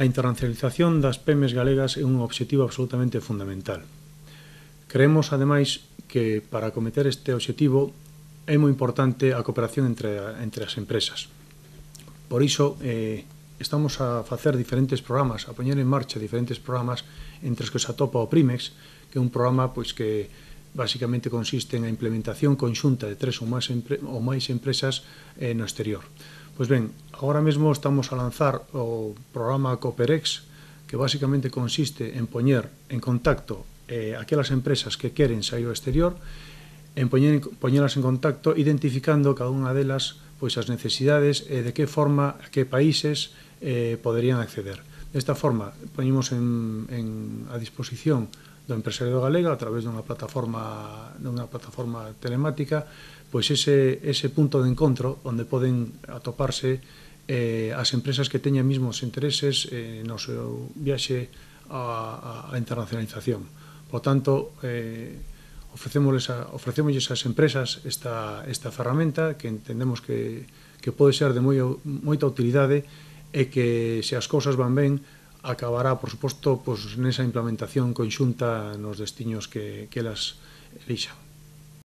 A internacionalización das PEMEs galegas é un obxectivo absolutamente fundamental. Creemos, ademais, que para acometer este obxectivo é moi importante a cooperación entre as empresas. Por iso, estamos a facer diferentes programas, a poñer en marcha diferentes programas entre os que se atopa o PRIMEX, que é un programa que basicamente consiste en a implementación conxunta de 3 ou máis empresas no exterior. Pois ben, agora mesmo estamos a lanzar o programa Cooperex, que basicamente consiste en poñer en contacto aquelas empresas que queren sair ao exterior, en poñelas en contacto identificando cada unha delas as necesidades e de que forma, a que países poderían acceder. Desta forma, poñemos a disposición do empresariado galega a través dunha plataforma telemática ese punto de encontro onde poden atoparse as empresas que teñan mismos intereses no seu viaxe á internacionalización. Por tanto, ofrecémosles ás empresas esta ferramenta que entendemos que pode ser de moita utilidade e que, se as cousas van ben, acabará, por suposto, nesa implementación conxunta nos destiños que elas elixan.